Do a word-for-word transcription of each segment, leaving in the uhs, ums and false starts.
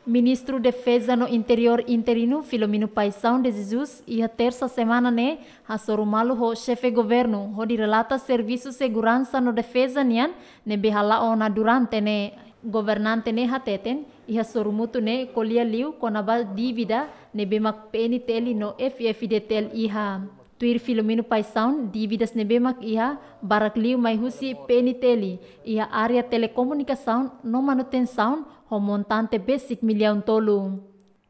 Ministru Defeza no Interiór interinu Filomeno Paixão de Jesus iha tersa semana ne'e hasoru malu ho xefe governu hodi relata servisu seguransa no defeza nian ne'ebé hala'o ona durante ne'e. Governante ne'e hateten iha sorumutu ne'e ko'alia liu kona-ba dívida ne'ebé mak P N T L no F F D T L iha. Tuir Filomeno Paixão, dívidas ne'ebé mak iha barak liu mai husi P N T L iha área telekomunikasaun no manutensaun ho montante besik millaun tolu.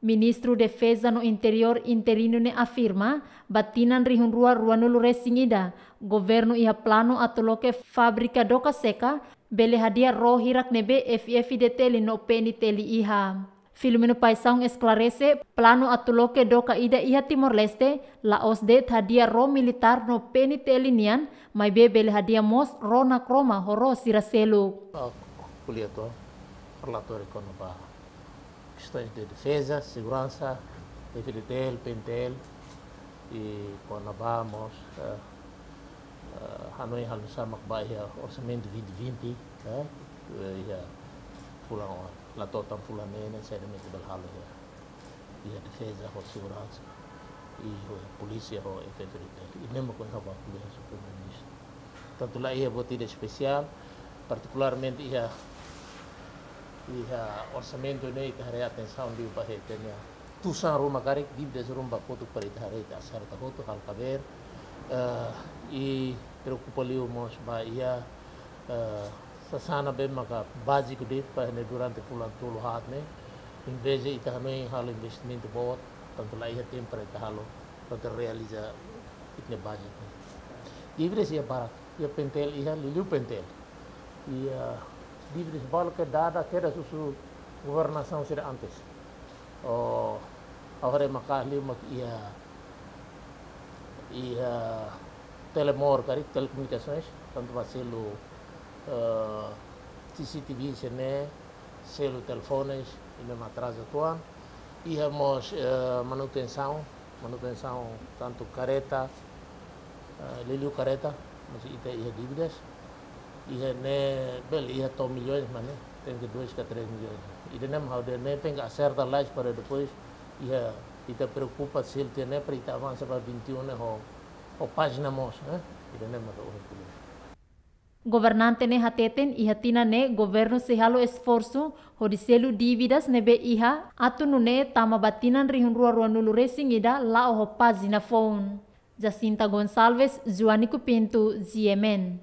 Ministru Defeza no Interiór interinu ne'e afirma, ba tinan rihun rua ruanulu resin ida, governu iha planu atu loke fábrika doka seka bele hadi'a ró hirak ne'ebé F F D T L no P N T L iha. Filomeno Paixão esklarese, planu atu loke doka ida iha Timor-Leste la'ós de'it hadi'a ró militár no P N T L nian, maibé bele hadi'a mós ró nakroma ho ró sira seluk. Ah, ko'alia to'ok, relatóriu kona-ba kestaun de defeza, seguransa, F D T L, P N T L, i kona-ba mós, eh, eh, hanoin halo sama ba iha orsamentu vinte vinte, eh, eh, iha fulan oan, la to'o tan fulan neen, saida mak ita bele halo iha, iha defeza ho seguransa, i ho polísia ho F F D T L. I ne'e mak ohin ha'u bá ko'alia ho Primeiru-Ministru. Tantu laiha buat ida espesiál, partikularmente iha, iha orsamentu ne'e ita haree atensaun liu ba iha ita-nia tusan ruma karik, dívidas ruma ba kotuk para ita haree ita aserta hotu halo kabeer, eh, i preokupa liu mós ba iha, eh, sasán ne'ebé maka báziku de'it para ne'e durante fulan tolu haat ne'e, envezde ita hanoin halo investimentu boot, tantu laiha tempu para ita halo, para ita realiza ita-nia budget ne'e. Dívidas iha barak, iha P N T L iha, liuliu P N T L. Iha dívidas balu ke dada kedas husi governasaun sira antes. Oh, ha'u haree maka'as liu mak iha, iha Telemor karik, telekomunikasoens, tantu ba selu, eh, C C T V sira-ne'e, selu telefones, i memang atraza tuan. Iha mós, eh, manutensaun, manutensaun tantu kareta, eh, liuliu kareta, mós ita iha dívidas. Iha ne'e bele iha to'o milhões, mas ne'e tenke dois ka três milhões. Ida-ne'e mak ha'u dehan ne'e tenke aserta lais para depois iha, ita preokupa selu tiha ne'e para ita avansa ba vinte e um ne'e ho, ho pájina moos, eh? Ida-ne'e mak ha'u dehan. Governante ne'e hateten iha tinan ne'e governu sei halo esforsu hodi selu dívidas ne'ebé iha atu nune'e tama ba tinan rihun rua ruanulu resin ida la'o ho pájina foun. Jacinta Gonçalves, Joanico Pinto, G M N.